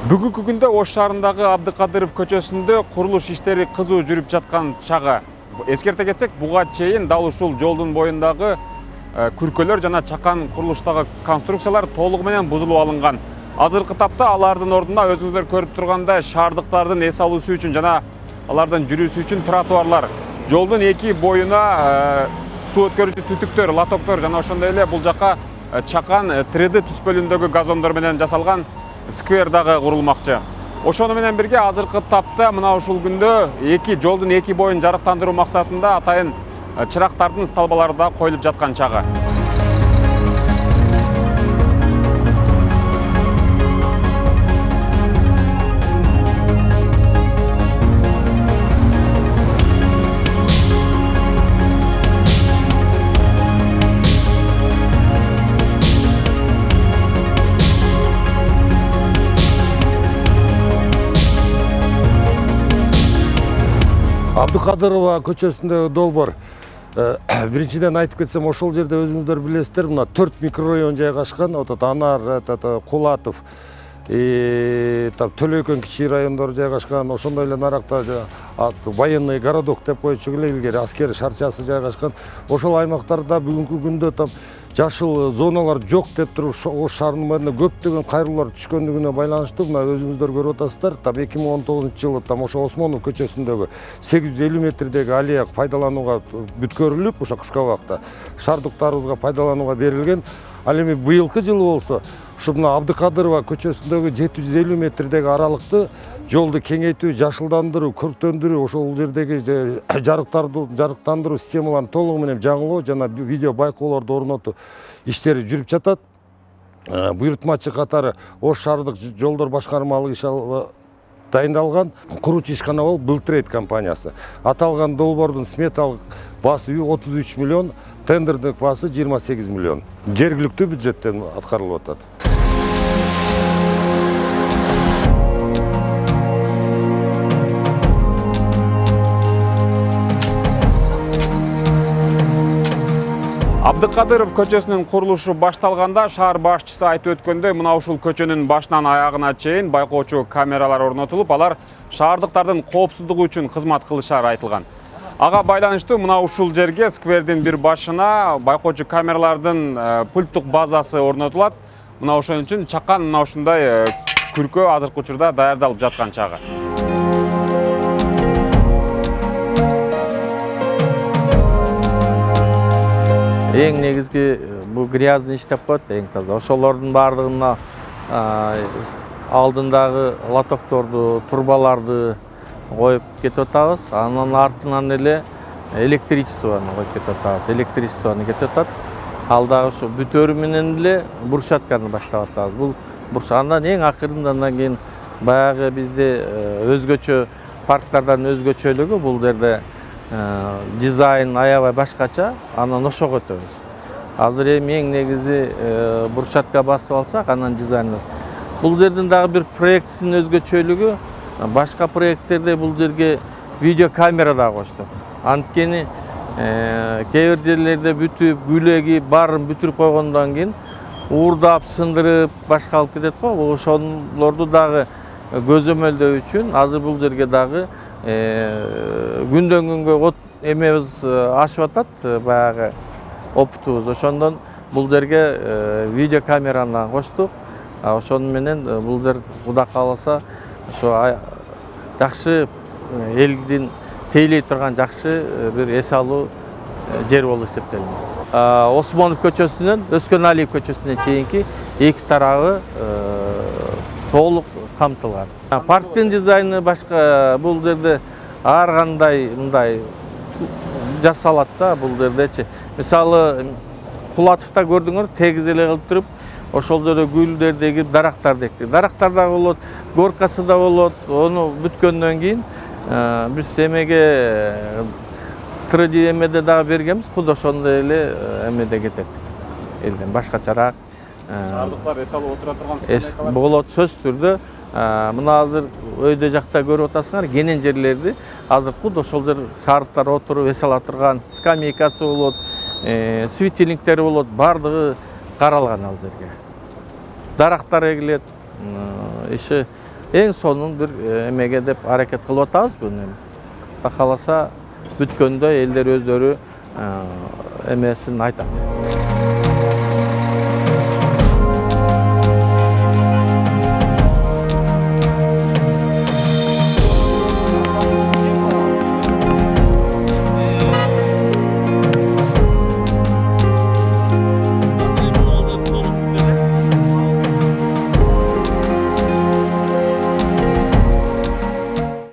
Бүгүнкү күндө Ош шаарындагы Абдыкадыров көчөсүндө курулуш иштери кызуу жүрүп жаткан чагы. Эскерте кетсек, буга чейин дал ушул жолдун боюндагы күркөлөр жана чакан курулуштагы конструкциялар толугу менен бузулуп алынган. Азыркы тапта алардын ордуна өзүңүздөр көрүп тургандай шаардыктардын эс алуусу үчүн жана алардын жүрүүсү үчүн тротуарлар, жолдун эки боюна суу өткөрүүчү түтүктөр, лотоктор жана ошондой эле бул жака чакан 3D түспөлүндөгү газондор менен жасалган сквер дагы курулмакчы. Ошону менен бирге азыркы тапта мына ушул күндө жолдун эки боюн жарыктандыруу максатында атайын чырактардын столбалары да коюлуп жаткан чагы. Абдыкадырова көчөсүндөгү долбоор. Биринчиден айтып кетсем, ошол жерде өзүңүздөр билесиздер, мына 4 микрорайон жайгашкан, Анар, Кулатов, Төлөйкөн кичи райондору жайгашкан, ошондой эле наракта военный городок деп койчу эле илгери аскер шарчасы жайгашкан. Ошол аймактарда бүгүнкү күндө жашыл зоналар жок деп туруп Ош шаарынын мэрине көптөгөн кайрылуулар түшкөндүгүнө байланыштуу мына өзүңүздөр көрүп атасыздар. 2019-жылы ошо Осмонов көчөсүндөгү 850 метрдеги аллея пайдаланууга бүткөрүлүп, ошо кыска убакта шаардыктарыбызга пайдаланууга берилген. Ал эми быйылкы жылы болсо ушу мына Абдыкадырова көчөсүндөгү 750 метрдеги аралыкты жолду кеңейтүү, жашылдандыруу, көрктөндүрүү, ошол жердеги жарыктандыруу системаларын толугу менен жаңылоо жана видео байкоолорду орнотуу иштери жүрүп жатат. Буйрутмачы катары Ош шаардык жолдор башкармалык иш дайындалган. Куруучу ишкана болуп Былтрейд компаниясы. Аталган долбоордун сметалык баасы 33 миллион, тендердик баасы 28 миллион. Жергиликтүү бюджеттен аткарылып атат. Абдыкадыров көчөсүнүн курулушу башталганда шаар башчысы айтып өткөндөй, мына ушул көчөнүн башынан аягына чейин байкоочу камералар орнотулуп, алар шаардыктардын коопсуздугу үчүн кызмат кылышары айтылган. Ага байланыштуу мына ушул жерге сквердин бир башына байкоочу камералардын пульттук базасы орнотулат. Мына ошон үчүн чакан мына ушундай күркө азыркы учурда даярдалып жаткан чагы. Эң негизги бул грязный иш деп коет, эң таза. Ошолордун бардыгына алдындагы лотокторду, турбаларды коюп кетип атабыз. Анын артынан эле электричествону коюп кетип атабыз. Электричествону кетип атат. Ал дагы ушу бүтөрү менен эле брусчатканы баштап атабыз. Бул андан эң акырында андан кийин баягы бизде өзгөчө парктардан өзгөчөлүгү бул жерде дизайн аябай башкача, анан ошого өтөбүз. Азыр эми эң негизи брусчатка басып алсак, анан дизайн. Бул жердин дагы бир проектисинин өзгөчөлүгү, башка проекттерде бул жерге видеокамера да коштук. Анткени кээ бир жерлерде бүтүп, гүлеги баарын бүтүрүп койгондон кийин уурдап, сындырып, башка алып кетет го. Ошолорду дагы көзөмөлдөө үчүн азыр бул жерге дагы күндөн күнгө эмебиз ашып атат, баягы опытыбыз. Ошондон бул жерге видеокамераны коштук. Ошону менен бул жер Кудай кааласа ошо жакшы элдин тейлей турган жакшы бир эс алуу жер болуп эсептелинет. Осмонов көчөсүнөн Өскөналиев көчөсүнө чейинки эки тарабы толук камтылган. Парктын дизайны башка, бул жерде ар кандай мындай жасалат да бул жердечи. Мисалы, Кулатовда көрдүңөр, тегиз эле кылып туруп, ошол жерде гүлдердеги дарактарды экти. Дарактар да болот, горкасы да болот. Ону бүткөндөн кийин биз эмеге 3D эмеде дагы бергенбиз, куд ошондой эле эмеде кетет. Элден башкачараак шаардыктар эс алып отура турган скамейкалар болот, сөзсүз түрдө. Мына азыр өйдө жакта көрүп атасыңар, кенен жерлерди азыр куд ошол жер шаардыктар отуруп эс ала турган скамейкасы болот, светильниктери болот, бардыгы каралган ал жерге. Дарактар эгилет, иши эң сонун бир эмеге деп аракет кылып атабыз буну. Кудай кааласа бүткөндө элдер өздөрү эмесин айтат.